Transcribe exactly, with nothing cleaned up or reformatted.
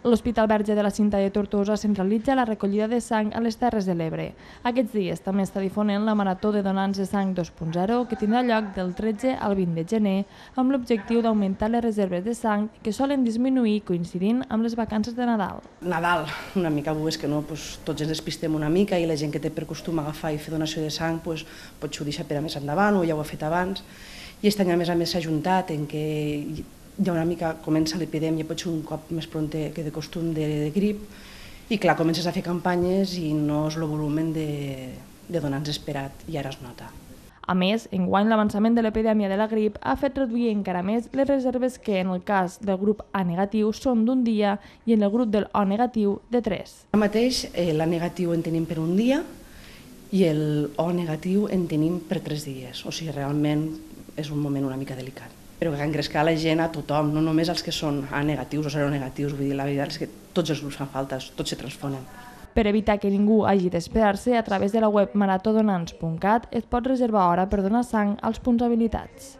L'Hospital Verge de la Cinta de Tortosa centralitza la recollida de sang a les Terres de l'Ebre. Aquests dies també està difonent la Marató de Donants de Sang dos punt zero, que tindrà lloc del tretze al vint de gener, amb l'objectiu d'augmentar les reserves de sang que solen disminuir coincidint amb les vacances de Nadal. Nadal, una mica, és que no, doncs, tots ens despistem una mica i la gent que té per costum agafar i fer donació de sang doncs, potser ho deixa per a més endavant o ja ho ha fet abans. I aquest any, a més a més, s'ha ajuntat en què ja una mica comença l'epidèmia, potser un cop més pront que de costum de, de grip, i clar, comences a fer campanyes i no és el volum de, de donants esperat, i ara es nota. A més, enguany l'avançament de l'epidèmia de la grip ha fet reduir encara més les reserves que en el cas del grup A negatiu són d'un dia i en el grup del O negatiu de tres. Ara mateix eh, l'A negatiu en tenim per un dia i el O negatiu en tenim per tres dies, o sigui, realment és un moment una mica delicat. Però que engrescar la gent a tothom, no només els que són A negatius o seronegatius, vull dir, la veritat és que tots els grups fan falta, tots se transfonen. Per evitar que ningú hagi d'esperar-se, a través de la web maratodonants punt cat es pot reservar hora per donar sang als punts habilitats.